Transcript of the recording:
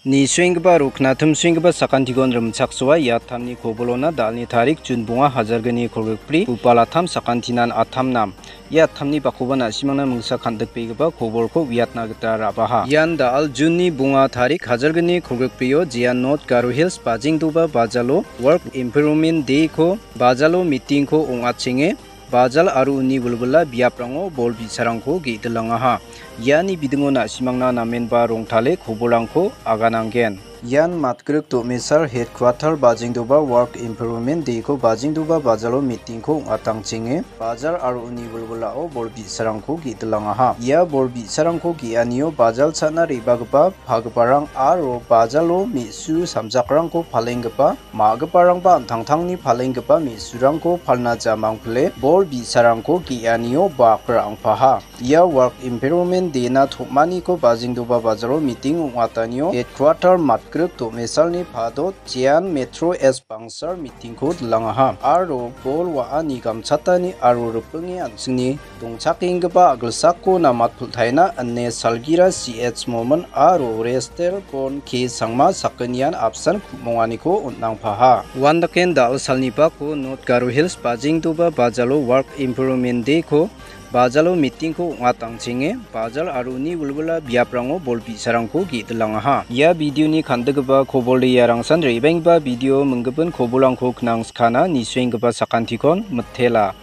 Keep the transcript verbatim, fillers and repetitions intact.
Nisuenggipa aro knatimsuenggipa sakantikon rimchaksoa ia attamni kobolona da·alni tarik Jun bonga hajalgni kolgrikbri, bupal attam sakantinan attamnam. Ia attamni bakoba na·simangna mingsa kandikbegipa kobolko uiatna gita ra·baha. Ian da·al Junni bonga tarik hajalgni kolgrikbrio Jian North Garo Hills Bajengdoba Bajalo Work Improvement Day-ko bajalo meeting-ko ong·achenge, bajal aro uni wilwila biaprango bol bi·sarangko ge·dilangaha. Iani bidingo na·simangna namenba rongtale kobolrangko agananggen. Ian matgrik do·mesar headquarter Bajengdoba Work Improvement Day-ko Bajengdoba bajalo meeting-ko ong·atangchenge, bajar aro uni wilwilao bol bi·sarangko ge·dilangaha. Ia bol bi·sarangko ge·anio bajal cha·na re·bagipa pagiparang aro bajalo me·su samjakrangko palenggipa ma·giparangba an·tangtangni palenggipa me·surangko palna jamang pile bol bi·sarangko ge·anio bak ra·angpaha. Ia Work Improvement Day-na tom·aniko Bajengdoba bajalo meeting ong·atanio headquarter matgrik do·mesalni padot Jian Metro S Bangsar meeting-ko dilangaha aro bol wa·ani gamchatani aro ripinge an·chingni dongchakenggipa a·gilsako namat pultaina ine salgira C H Momin aro Rester Bon K Sangma sakgnian apsan ku·monganiko on·nangpaha. Uandaken da·o salni bako North Garo Hills Bajengdoba bajalo Work Improvement Day-ko bajalo meeting-ko ong·atangchenge, bajal aro uni wilwila biaprango bol bi·sarangko ge·dilangaha. Ia video-ni kandigipa kobolde iarangsan re·baenggipa video minggipin kobolrangko knang skana nisuenggipa sakantikon mitela.